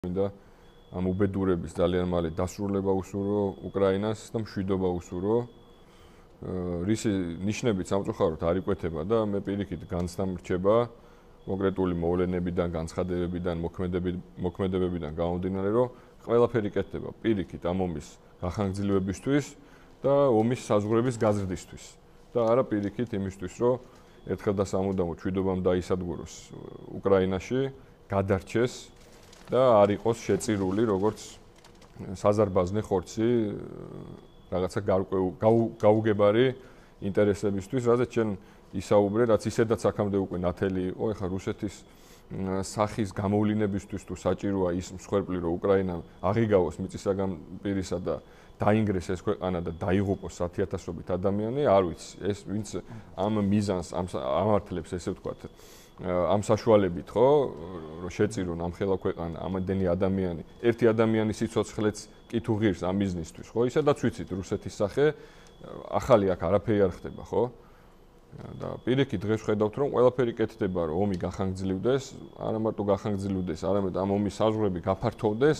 მინდა ამ უბედურების ძალიან მალე დასრულება უსურვო უკრაინას და მშვიდობა უსურვო. რისი ნიშნებით სამწუხაროდ არ იკვეთება და მე პირიქით განსამრჩება კონკრეტული მოვლენებიდან, განცხადებებიდან, მოქმედებებიდან გამომდინარე, რომ ყველაფერი კეთდება პირიქით ამ ომის გახანგრძლივებისთვის და ომის საზღვრების გაზრდისთვის. და არა პირიქით იმისთვის, რომ ერთხელ და სამუდამოდ მშვიდობამ დაისადგუროს უკრაინაში, გადარჩეს და არ იყოს შეწირული როგორც საზარბაზნე ხორცი რაღაცა გაუგებარი ინტერესებისთვის, რადგან ჩვენ ისაუბრე, რაც ისედაც აქამდე უკვე ნათელი იყო, ეხლა რუსეთის სახის გამოვლინებისთვის თუ საჭიროა ის მსხვერპლი, რომ უკრაინა აღიგავოს მიწისაგან პირისა და დაინგრეს ეს ქვეყანა და დაიღუპოს 10,000-ობით ადამიანი, არ ვიცი, ეს ვინც ამ მიზანს ამართლებს, ესე ვთქვათ, ამ საშუალებით, ხო, რომ შეწირონ ამ ხელა ქვეყანა, ამდენი ადამიანი, ერთი ადამიანის სიცოცხლეც კი თუ ღირს ამ მიზნისთვის, ხო? ისედაც ვიცით რუსეთის სახე, ახალი აქ არაფერი არ ხდება, ხო? და პირიქით დღეს ვხედავთ, რომ ყველაფერი კეთდება, რომ ომი გახანგრძლივდეს, არა მარტო გახანგრძლივდეს, არამედ ამ ომის საზღვრები გაფართოვდეს.